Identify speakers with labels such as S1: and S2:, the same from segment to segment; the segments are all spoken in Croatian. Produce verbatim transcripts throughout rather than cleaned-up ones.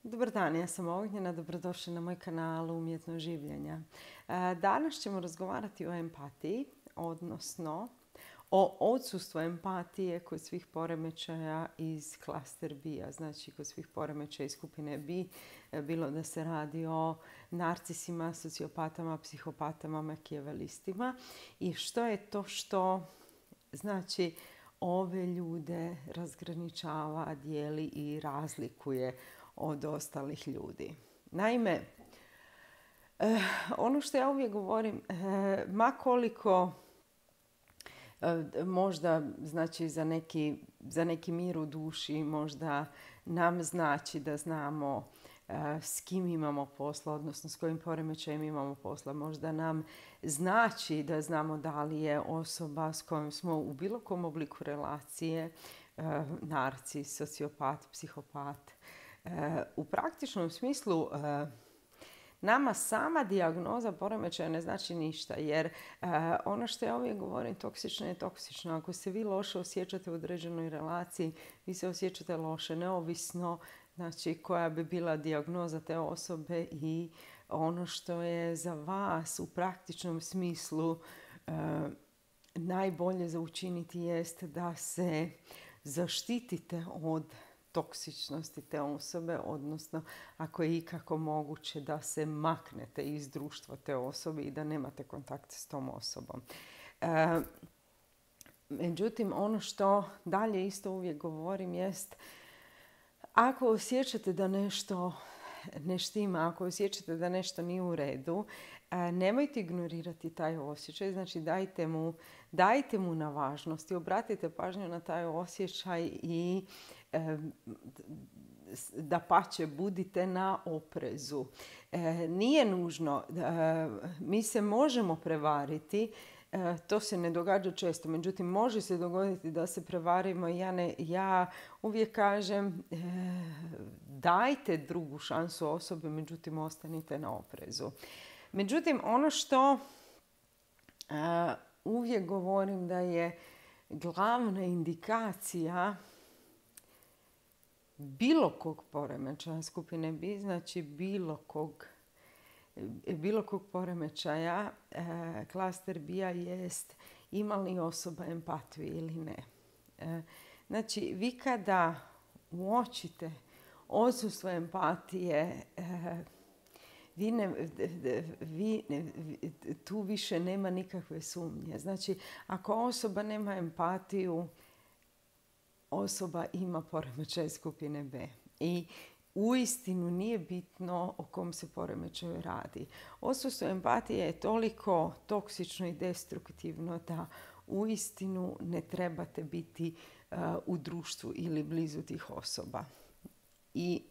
S1: Dobar dan, ja sam Ognjena, dobrodošli na moj kanal Umjetno življenja. Danas ćemo razgovarati o empatiji, odnosno o odsustvu empatije kod svih poremećaja iz klaster B-a, znači kod svih poremećaja iz skupine B, bilo da se radi o narcisima, sociopatama, psihopatama, makijavelistima i što je to što znači ove ljude razgraničava, dijeli i razlikuje od ostalih ljudi. Naime, eh, ono što ja uvijek govorim, eh, ma koliko eh, možda znači za neki, za neki mir u duši, možda nam znači da znamo eh, s kim imamo posla, odnosno s kojim poremećajem imamo posla. Možda nam znači da znamo da li je osoba s kojom smo u bilo kom obliku relacije eh, narcis, sociopat, psihopat. U praktičnom smislu nama sama dijagnoza poremećaja ne znači ništa, jer ono što ja uvijek govorim, toksično je toksično. Ako se vi loše osjećate u određenoj relaciji, vi se osjećate loše neovisno znači koja bi bila dijagnoza te osobe i ono što je za vas u praktičnom smislu najbolje za učiniti jest da se zaštitite od toksičnosti te osobe, odnosno ako je ikako moguće da se maknete iz društva te osobe i da nemate kontakt s tom osobom. E, međutim, ono što dalje isto uvijek govorim jest ako osjećate da nešto ne štima, ako osjećate da nešto nije u redu, nemojte ignorirati taj osjećaj, znači dajte mu, dajte mu na važnosti, obratite pažnju na taj osjećaj i dapače budite na oprezu. Nije nužno, mi se možemo prevariti, to se ne događa često, međutim može se dogoditi da se prevarimo. Ja, ne, ja uvijek kažem dajte drugu šansu osobi, međutim ostanite na oprezu. Međutim, ono što uh, uvijek govorim da je glavna indikacija bilo kog poremećaja skupine B, znači bilo kog, bilo kog poremećaja uh, klaster B-a jest ima li osoba empatiju ili ne. Uh, znači, vi kada uočite odsustvo empatije, uh, Vi ne, vi, tu više nema nikakve sumnje. Znači, ako osoba nema empatiju, osoba ima poremećaj skupine B. I uistinu nije bitno o kom se poremećaju radi. Odsustvo empatije je toliko toksično i destruktivno da uistinu ne trebate biti uh, u društvu ili blizu tih osoba. I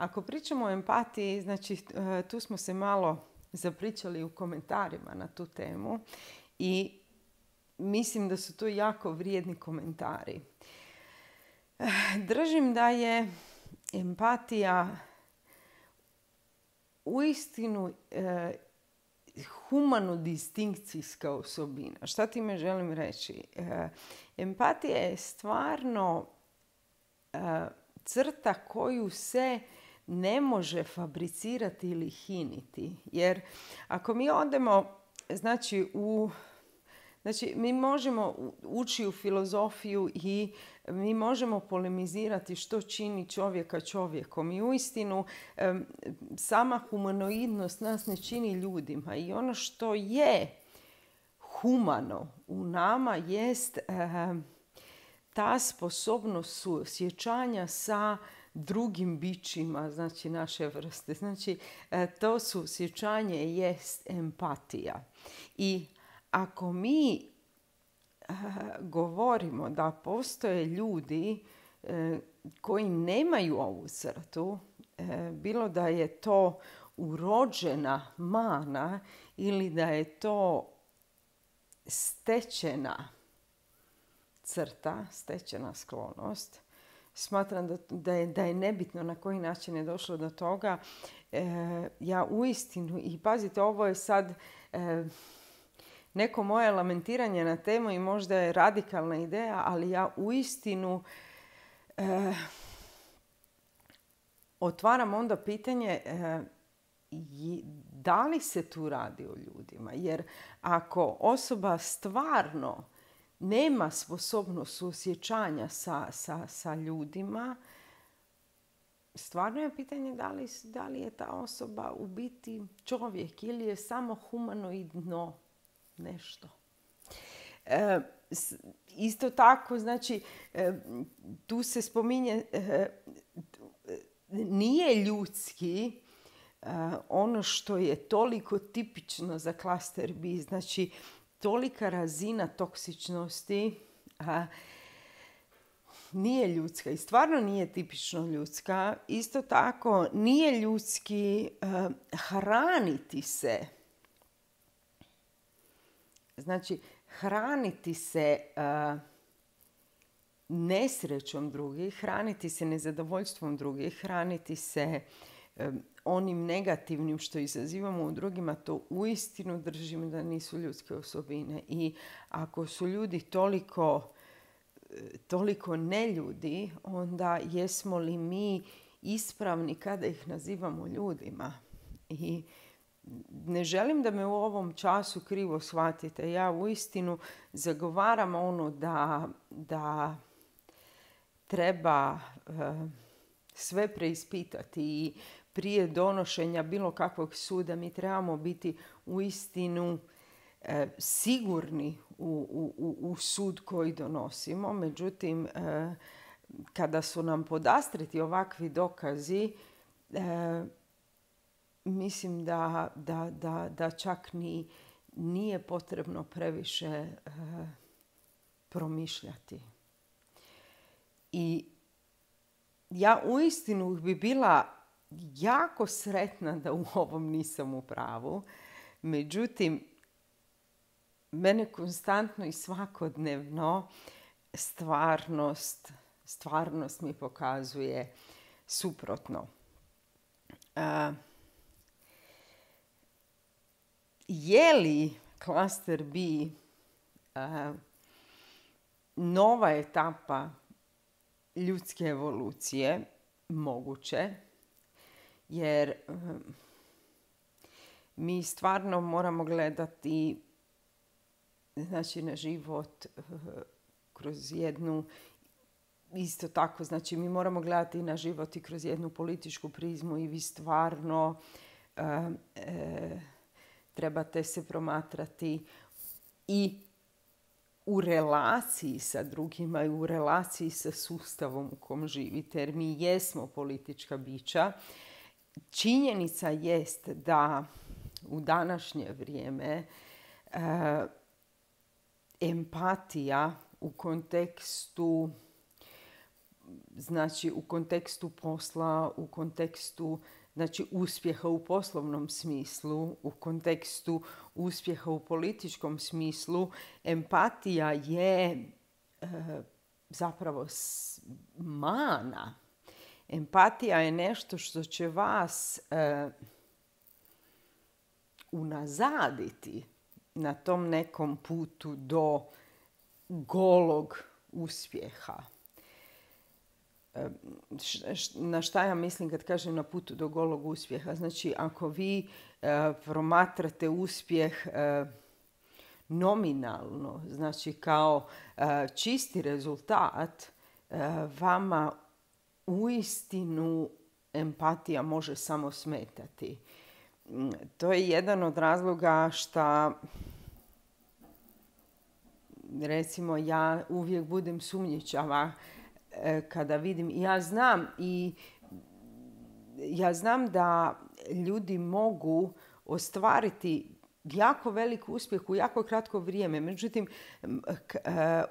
S1: ako pričamo o empatiji, znači tu smo se malo zapričali u komentarima na tu temu i mislim da su to jako vrijedni komentari. Držim da je empatija uistinu eh, humano-distinkcijska osobina. Šta time želim reći? Eh, empatija je stvarno eh, crta koju se ne može fabricirati ili hiniti. Jer ako mi odemo, znači, u, znači mi možemo ući u filozofiju i mi možemo polemizirati što čini čovjeka čovjekom. I uistinu sama humanoidnost nas ne čini ljudima. I ono što je humano u nama jest ta sposobnost suosjećanja sa drugim bićima, znači naše vrste. Znači, to suosjećanje jest empatija. I ako mi govorimo da postoje ljudi koji nemaju ovu crtu, bilo da je to urođena mana ili da je to stečena crta, stečena sklonost, smatram da, da, je, da je nebitno na koji način je došlo do toga. E, ja uistinu, i pazite, ovo je sad e, neko moje lamentiranje na temu i možda je radikalna ideja, ali ja uistinu e, otvaram onda pitanje da li se tu radi o ljudima. Jer ako osoba stvarno nema sposobnost suosjećanja sa, sa, sa ljudima, stvarno je pitanje da li, da li je ta osoba u biti čovjek ili je samo humanoidno nešto. E, isto tako, znači, e, tu se spominje, e, nije ljudski e, ono što je toliko tipično za klaster B, znači tolika razina toksičnosti a, nije ljudska i stvarno nije tipično ljudska. Isto tako nije ljudski uh, hraniti se. Znači, hraniti se uh, nesrećom drugih, hraniti se nezadovoljstvom drugih, hraniti se um, onim negativnim što izazivamo u drugima, to uistinu držim da nisu ljudske osobine. I ako su ljudi toliko toliko neljudi, onda jesmo li mi ispravni kada ih nazivamo ljudima? I ne želim da me u ovom času krivo shvatite. Ja uistinu zagovaram ono da, da treba uh, sve preispitati i prije donošenja bilo kakvog suda mi trebamo biti uistinu E, sigurni u, u, u sud koji donosimo. Međutim, e, kada su nam podastreti ovakvi dokazi, e, mislim da, da, da, da čak ni nije potrebno previše e, promišljati. I ja uistinu bi bila jako sretna da u ovom nisam u pravu. Međutim, mene konstantno i svakodnevno stvarnost, stvarnost mi pokazuje suprotno. Uh, je li klaster B uh, nova etapa ljudske evolucije? Moguće. Jer um, mi stvarno moramo gledati znači na život kroz jednu, isto tako, znači mi moramo gledati na život i kroz jednu političku prizmu i vi stvarno e, e, trebate se promatrati i u relaciji sa drugima i u relaciji sa sustavom u kom živite, jer mi jesmo politička bića. Činjenica jest da u današnje vrijeme e, empatija u kontekstu, znači u kontekstu posla, u kontekstu znači uspjeha u poslovnom smislu, u kontekstu uspjeha u političkom smislu, empatija je e, zapravo mana. Empatija je nešto što će vas e, unazaditi na tom nekom putu do golog uspjeha. Na šta ja mislim kad kažem na putu do golog uspjeha? Znači, ako vi e, promatrate uspjeh e, nominalno, znači kao e, čisti rezultat, e, vama uistinu empatija može samo smetati. To je jedan od razloga što, recimo, ja uvijek budem sumnjičava kada vidim, ja znam i ja znam da ljudi mogu ostvariti jako velik uspjeh u jako kratko vrijeme. Međutim,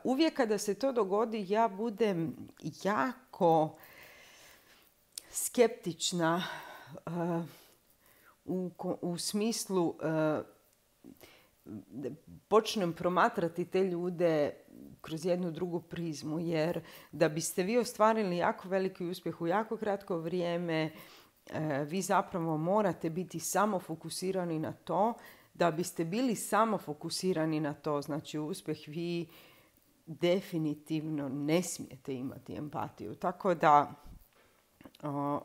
S1: uvijek kada se to dogodi, ja budem jako skeptična u, u smislu počnem promatrati te ljude kroz jednu drugu prizmu, jer da biste vi ostvarili jako veliki uspjeh u jako kratko vrijeme, vi zapravo morate biti samo fokusirani na to. Da biste bili samo fokusirani na to, znači uspjeh, vi definitivno ne smijete imati empatiju. Tako da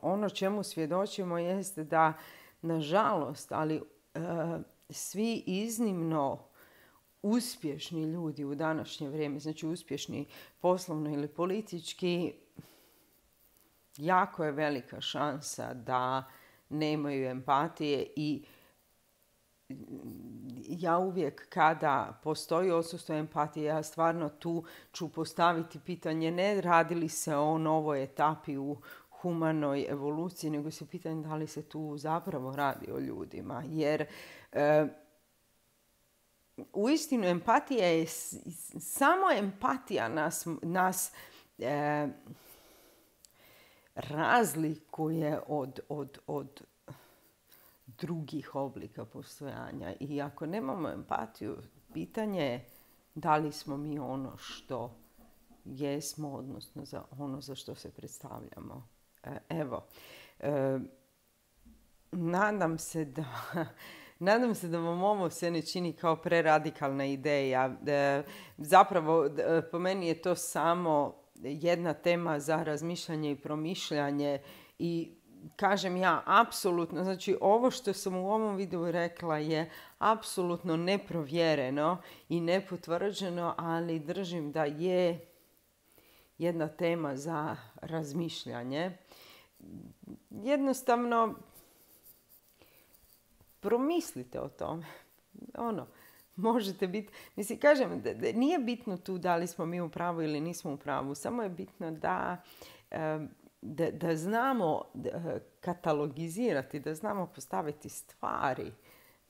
S1: ono čemu svjedočimo jeste da, nažalost, ali svi iznimno uspješni ljudi u današnje vrijeme, znači uspješni poslovno ili politički, jako je velika šansa da nemaju empatije i ja uvijek kada postoji odsustvo empatije, ja stvarno tu ću postaviti pitanje ne radi li se o novoj etapi u humanoj evoluciji, nego se pitanje da li se tu zapravo radi o ljudima. Jer e, uistinu empatija je, samo empatija nas, nas e, razlikuje od, od, od drugih oblika postojanja. I ako nemamo empatiju, pitanje je da li smo mi ono što jesmo, odnosno za ono za što se predstavljamo. Evo, e, nadam se da... Nadam se da vam ovo se ne čini kao preradikalna ideja. E, zapravo, e, po meni je to samo jedna tema za razmišljanje i promišljanje i kažem ja, apsolutno, znači ovo što sam u ovom videu rekla je apsolutno neprovjereno i nepotvrđeno, ali držim da je jedna tema za razmišljanje. Jednostavno, promislite o tome. Ono, možete biti, mislim, kažem, da, da nije bitno tu da li smo mi u pravu ili nismo u pravu, samo je bitno da, da, da znamo katalogizirati, da znamo postaviti stvari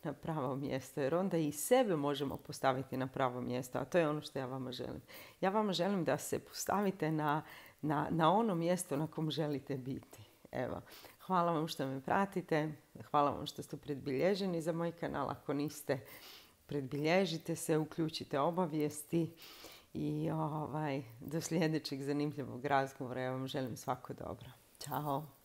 S1: na pravo mjesto, jer onda i sebe možemo postaviti na pravo mjesto, a to je ono što ja vama želim. Ja vama želim da se postavite na, na, na ono mjesto na kom želite biti. Evo, hvala vam što me pratite, hvala vam što ste predbilježeni za moj kanal. Ako niste, predbilježite se, uključite obavijesti i ovaj, do sljedećeg zanimljivog razgovora. Ja vam želim svako dobro. Ćao!